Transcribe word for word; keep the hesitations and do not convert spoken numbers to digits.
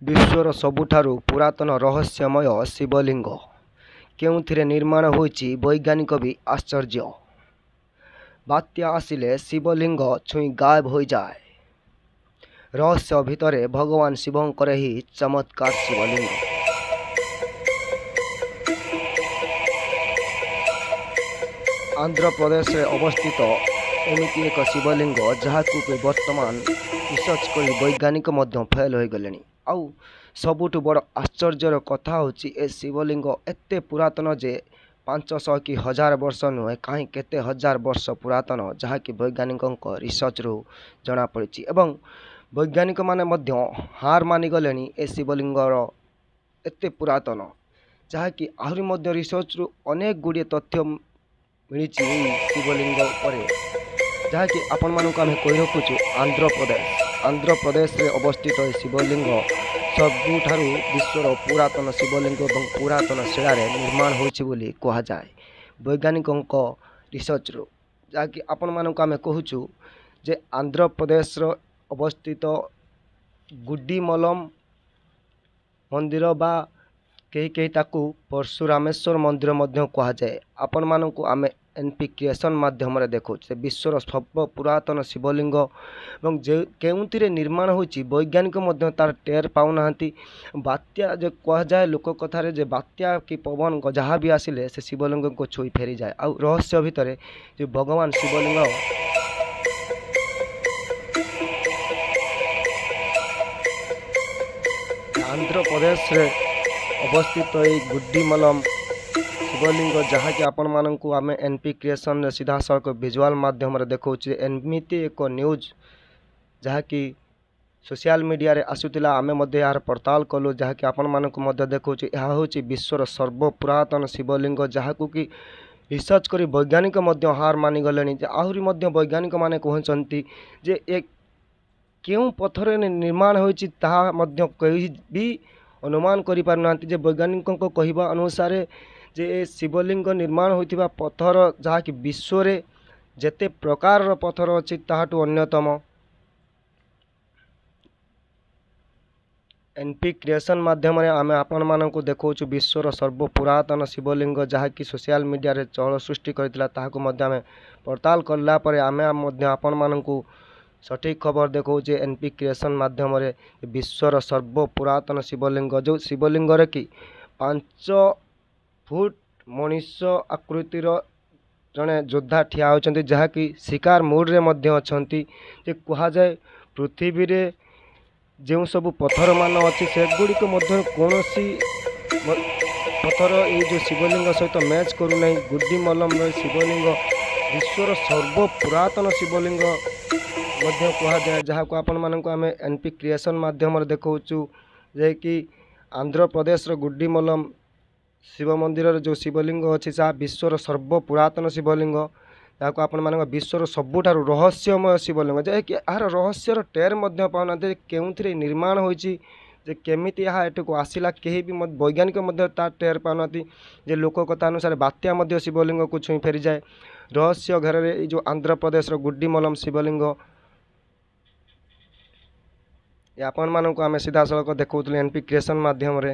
ବିଶ୍ୱର ସବୁଠାରୁ ପୁରାତନ ରହସ୍ୟମୟ ଶିବଲିଙ୍ଗ କେଉଁଥିରେ ନିର୍ମାଣ ହୋଇଛି ବୈଜ୍ଞାନିକ ବି ଆଶ୍ଚର୍ଯ୍ୟ। ବାତ୍ୟା ଆସିଲେ ଶିବଲିଙ୍ଗ ଛୁଇଁ ଗାୟବ ହୋଇଯାଏ। ରହସ୍ୟ ଭିତରେ ଭଗବାନ ଶିବଙ୍କର ଏହି ଚମତ୍କାର ଶିବଲିଙ୍ଗ। ଆନ୍ଧ୍ରପ୍ରଦେଶରେ ଅବସ୍ଥିତ ଏମିତି ଏକ ଶିବଲିଙ୍ଗ ଯାହାକୁ କି ବର୍ତ୍ତମାନ ରିସର୍ଚ୍ଚ କରି ବୈଜ୍ଞାନିକ ମଧ୍ୟ ଫେଲ୍ ହୋଇଗଲେଣି। ଆଉ ସବୁଠୁ ବଡ଼ ଆଶ୍ଚର୍ଯ୍ୟର କଥା ହେଉଛି ଏ ଶିବଲିଙ୍ଗ ଏତେ ପୁରାତନ ଯେ ପାଞ୍ଚଶହ କି ହଜାର ବର୍ଷ ନୁହେଁ, କାହିଁ କେତେ ହଜାର ବର୍ଷ ପୁରାତନ, ଯାହାକି ବୈଜ୍ଞାନିକଙ୍କ ରିସର୍ଚ୍ଚରୁ ଜଣାପଡ଼ିଛି। ଏବଂ ବୈଜ୍ଞାନିକମାନେ ମଧ୍ୟ ହାର ମାନିଗଲେଣି ଏ ଶିବଲିଙ୍ଗର ଏତେ ପୁରାତନ, ଯାହାକି ଆହୁରି ମଧ୍ୟ ରିସର୍ଚ୍ଚରୁ ଅନେକ ଗୁଡ଼ିଏ ତଥ୍ୟ ମିଳିଛି ଏହି ଶିବଲିଙ୍ଗ ଉପରେ, ଯାହାକି ଆପଣମାନଙ୍କୁ ଆମେ କହି ରଖୁଛୁ। ଆନ୍ଧ୍ରପ୍ରଦେଶ ଆନ୍ଧ୍ରପ୍ରଦେଶରେ ଅବସ୍ଥିତ ଏହି ଶିବଲିଙ୍ଗ ସବୁଠାରୁ ବିଶ୍ୱର ପୁରାତନ ଶିବଲିଙ୍ଗ ଏବଂ ପୁରାତନ ଶିଳାରେ ନିର୍ମାଣ ହୋଇଛି ବୋଲି କୁହାଯାଏ ବୈଜ୍ଞାନିକଙ୍କ ରିସର୍ଚ୍ଚରୁ। ଯାହାକି ଆପଣମାନଙ୍କୁ ଆମେ କହୁଛୁ ଯେ ଆନ୍ଧ୍ରପ୍ରଦେଶର ଅବସ୍ଥିତ ଗୁଡିମଲମ ମନ୍ଦିର ବା କେହି କେହି ତାକୁ ପରଶୁରାମେଶ୍ୱର ମନ୍ଦିର ମଧ୍ୟ କୁହାଯାଏ। ଆପଣମାନଙ୍କୁ ଆମେ ଏନ୍ ପି କ୍ରିଏସନ୍ ମାଧ୍ୟମରେ ଦେଖାଉଛୁ ସେ ବିଶ୍ୱର ସର୍ବ ପୁରାତନ ଶିବଲିଙ୍ଗ ଏବଂ ଯେ କେଉଁଥିରେ ନିର୍ମାଣ ହୋଇଛି ବୈଜ୍ଞାନିକ ମଧ୍ୟ ତାର ଟେର୍ ପାଉନାହାନ୍ତି। ବାତ୍ୟା ଯେ କୁହାଯାଏ ଲୋକ କଥାରେ ଯେ ବାତ୍ୟା କି ପବନ ଯାହା ବି ଆସିଲେ ସେ ଶିବଲିଙ୍ଗକୁ ଛୁଇଁ ଫେରିଯାଏ। ଆଉ ରହସ୍ୟ ଭିତରେ ଯେ ଭଗବାନ ଶିବଲିଙ୍ଗ ଆନ୍ଧ୍ରପ୍ରଦେଶରେ ଅବସ୍ଥିତ ଏଇ ଗୁଡିମଲମ ଶିବଲିଙ୍ଗ, ଯାହାକି ଆପଣମାନଙ୍କୁ ଆମେ ଏନ୍ ପି କ୍ରିଏସନ୍ରେ ସିଧାସଳଖ ଭିଜୁଆଲ୍ ମାଧ୍ୟମରେ ଦେଖାଉଛୁ। ଏମିତି ଏକ ନ୍ୟୁଜ୍ ଯାହାକି ସୋସିଆଲ ମିଡ଼ିଆରେ ଆସୁଥିଲା, ଆମେ ମଧ୍ୟ ଏହାର ପଡ଼ତାଲ କଲୁ, ଯାହାକି ଆପଣମାନଙ୍କୁ ମଧ୍ୟ ଦେଖାଉଛୁ। ଏହା ହେଉଛି ବିଶ୍ୱର ସର୍ବ ପୁରାତନ ଶିବଲିଙ୍ଗ, ଯାହାକୁ କି ରିସର୍ଚ୍ଚ କରି ବୈଜ୍ଞାନିକ ମଧ୍ୟ ହାର ମାନିଗଲେଣି। ଯେ ଆହୁରି ମଧ୍ୟ ବୈଜ୍ଞାନିକମାନେ କହୁଛନ୍ତି ଯେ ଏ କେଉଁ ପଥରରେ ନିର୍ମାଣ ହୋଇଛି ତାହା ମଧ୍ୟ କେହି ବି ଅନୁମାନ କରିପାରୁନାହାନ୍ତି। ଯେ ବୈଜ୍ଞାନିକଙ୍କ କହିବା ଅନୁସାରେ ଯେ ଏ ଶିବଲିଙ୍ଗ ନିର୍ମାଣ ହୋଇଥିବା ପଥର ଯାହାକି ବିଶ୍ୱରେ ଯେତେ ପ୍ରକାରର ପଥର ଅଛି ତାହାଠୁ ଅନ୍ୟତମ। ଏନ୍ ପି କ୍ରିଏସନ୍ ମାଧ୍ୟମରେ ଆମେ ଆପଣମାନଙ୍କୁ ଦେଖାଉଛୁ ବିଶ୍ୱର ସର୍ବ ପୁରାତନ ଶିବଲିଙ୍ଗ, ଯାହାକି ସୋସିଆଲ ମିଡ଼ିଆରେ ଚହଳ ସୃଷ୍ଟି କରିଥିଲା। ତାହାକୁ ମଧ୍ୟ ଆମେ ପଡ଼ତାଲ କଲା ପରେ ଆମେ ମଧ୍ୟ ଆପଣମାନଙ୍କୁ ସଠିକ୍ ଖବର ଦେଖାଉଛେ ଏନ୍ ପି କ୍ରିଏସନ୍ ମାଧ୍ୟମରେ। ବିଶ୍ୱର ସର୍ବ ପୁରାତନ ଶିବଲିଙ୍ଗ, ଯେଉଁ ଶିବଲିଙ୍ଗରେ କି ପାଞ୍ଚ ଫୁଟ ମଣିଷ ଆକୃତିର ଜଣେ ଯୋଦ୍ଧା ଠିଆ ହୋଇଛନ୍ତି, ଯାହାକି ଶିକାର ମୁଡ଼ରେ ମଧ୍ୟ ଅଛନ୍ତି। ଯେ କୁହାଯାଏ ପୃଥିବୀରେ ଯେଉଁ ସବୁ ପଥରମାନ ଅଛି ସେଗୁଡ଼ିକ ମଧ୍ୟରୁ କୌଣସି ପଥର ଏଇ ଯେଉଁ ଶିବଲିଙ୍ଗ ସହିତ ମ୍ୟାଚ୍ କରୁନାହିଁ। ଗୁଡିମଲମର ଶିବଲିଙ୍ଗ ବିଶ୍ୱର ସର୍ବ ପୁରାତନ ଶିବଲିଙ୍ଗ ମଧ୍ୟ କୁହାଯାଏ, ଯାହାକୁ ଆପଣମାନଙ୍କୁ ଆମେ ଏନ୍ ପି କ୍ରିଏସନ୍ ମାଧ୍ୟମରେ ଦେଖାଉଛୁ। ଯେ କି ଆନ୍ଧ୍ରପ୍ରଦେଶର ଗୁଡିମଲମ ଶିବ ମନ୍ଦିରରେ ଯେଉଁ ଶିବଲିଙ୍ଗ ଅଛି ତାହା ବିଶ୍ୱର ସର୍ବ ପୁରାତନ ଶିବଲିଙ୍ଗ, ଯାହାକୁ ଆପଣମାନଙ୍କ ବିଶ୍ୱର ସବୁଠାରୁ ରହସ୍ୟମୟ ଶିବଲିଙ୍ଗ, ଯାହାକି ଏହାର ରହସ୍ୟର ଟେର୍ ମଧ୍ୟ ପାଉନାହାନ୍ତି କେଉଁଥିରେ ନିର୍ମାଣ ହୋଇଛି, ଯେ କେମିତି ଏହା ଏଠାକୁ ଆସିଲା କେହି ବି ବୈଜ୍ଞାନିକ ମଧ୍ୟ ତା ଟେର୍ ପାଉନାହାନ୍ତି। ଯେ ଲୋକ କଥା ଅନୁସାରେ ବାତ୍ୟା ମଧ୍ୟ ଶିବଲିଙ୍ଗକୁ ଛୁଇଁ ଫେରିଯାଏ। ରହସ୍ୟ ଘେରରେ ଏଇ ଯେଉଁ ଆନ୍ଧ୍ରପ୍ରଦେଶର ଗୁଡିମଲମ ଶିବଲିଙ୍ଗ, ଆପଣମାନଙ୍କୁ ଆମେ ସିଧାସଳଖ ଦେଖାଉଥିଲୁ ଏନ୍ ପି କ୍ରିଏସନ୍ ମାଧ୍ୟମରେ।